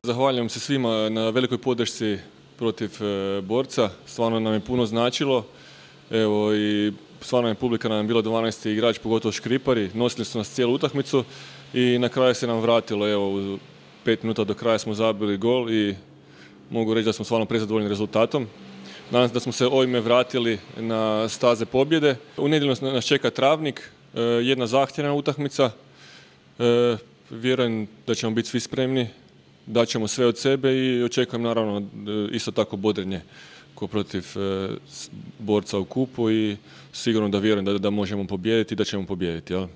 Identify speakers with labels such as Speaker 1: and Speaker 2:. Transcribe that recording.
Speaker 1: Zahvaljujem se svima na velikoj podršci protiv Borca. Stvarno nam je puno značilo. Evo, i stvarno je publika nam je bila 12. igrač, pogotovo Škripari. Nosili su nas cijelu utakmicu i na kraju se nam vratilo. Evo, u 5 minuta do kraja smo zabili gol i mogu reći da smo stvarno prezadovoljni rezultatom. Nadam se da smo se ovime vratili na staze pobjede. U nedjelju nas čeka Travnik, jedna zahtjevna utakmica. Vjerujem da ćemo biti svi spremni, daćemo sve od sebe i očekujem naravno isto tako bodrenje ko protiv Borca u kupu i sigurno da vjerujem da možemo pobijediti i da ćemo pobijediti. Jel?